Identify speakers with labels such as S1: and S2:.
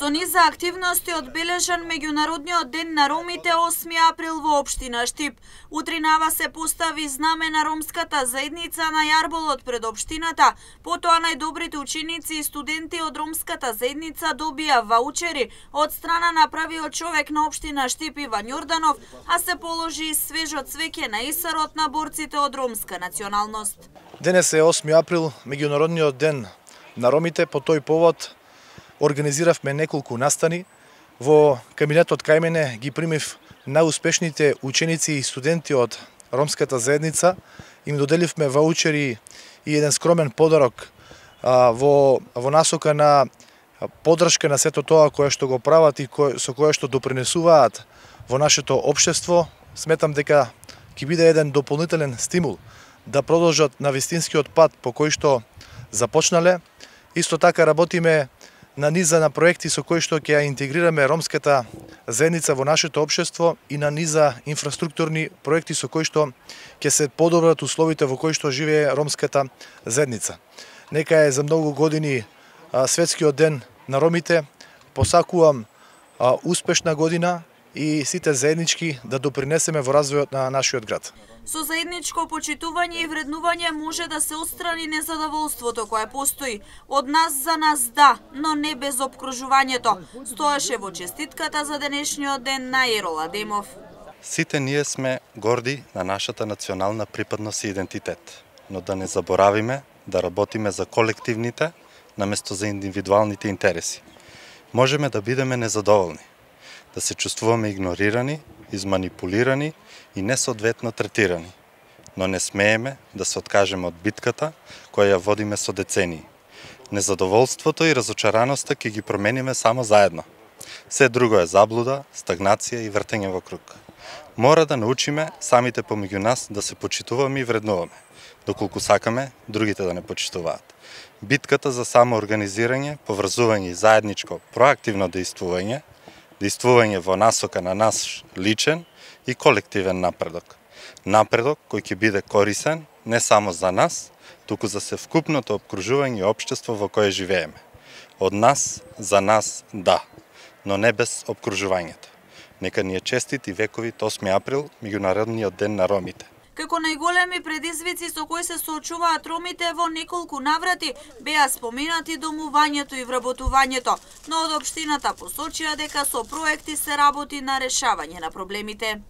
S1: Со низа активности одбележан меѓународниот ден на ромите 8 април во општина Штип. Утринава се постави знаме на ромската заедница на јарболот пред општината, потоа најдобрите ученици и студенти од ромската заедница добија ваучери од страна на правиот човек на општина Штип Иван Јорданов, а се положи и свежо цвеќе на исарот на борците од ромска националност.
S2: Денес е 8 април, меѓународниот ден на ромите. По тој повод организиравме неколку настани. Во кабинетот кај мене ги примив најуспешните ученици и студенти од ромската заедница. Им доделивме ваучери и еден скромен подарок во насока на поддршка на сето тоа кое што го прават и со кое што допринесуваат во нашето општество. Сметам дека ќе биде еден дополнителен стимул да продолжат на вистинскиот пат по кој што започнале. Исто така работиме на низа на проекти со кои што ќе ја интегрираме ромската заедница во нашето општество и на низа инфраструктурни проекти со кои што ќе се подобрат условите во кои што живее ромската заедница. Нека е за многу години светскиот ден на ромите. Посакувам успешна година и сите заеднички да допринесеме во развојот на нашиот град.
S1: Со заедничко почитување и вреднување може да се отстрани незадоволството кое постои. Од нас за нас да, но не без опкружувањето, стоеше во честитката за денешниот ден на Ерол Адемов.
S3: Сите ние сме горди на нашата национална припадност и идентитет, но да не заборавиме да работиме за колективните наместо за индивидуалните интереси. Можеме да бидеме незадоволни, да се чувствуваме игнорирани, изманипулирани и несоодветно третирани, но не смееме да се откажеме од битката која ја водиме со децении. Незадоволството и разочараноста ќе ги промениме само заедно. Се друго е заблуда, стагнација и вртење во круг. Мора да научиме самите помеѓу нас да се почитуваме и вреднуваме, доколку сакаме другите да не почитуваат. Битката за самоорганизирање, поврзување и заедничко проактивно действување во насока на наш личен и колективен напредок. Напредок кој ќе биде корисен не само за нас, туку за севкупното опкружување и општество во кое живееме. Од нас, за нас, да, но не без опкружувањето. Нека ни е честит и вековит 8 април, меѓународниот ден на ромите.
S1: Како најголеми предизвици со кои се соочуваат ромите во неколку наврати беа споменати домувањето и вработувањето, но од општината посочија дека со проекти се работи на решавање на проблемите.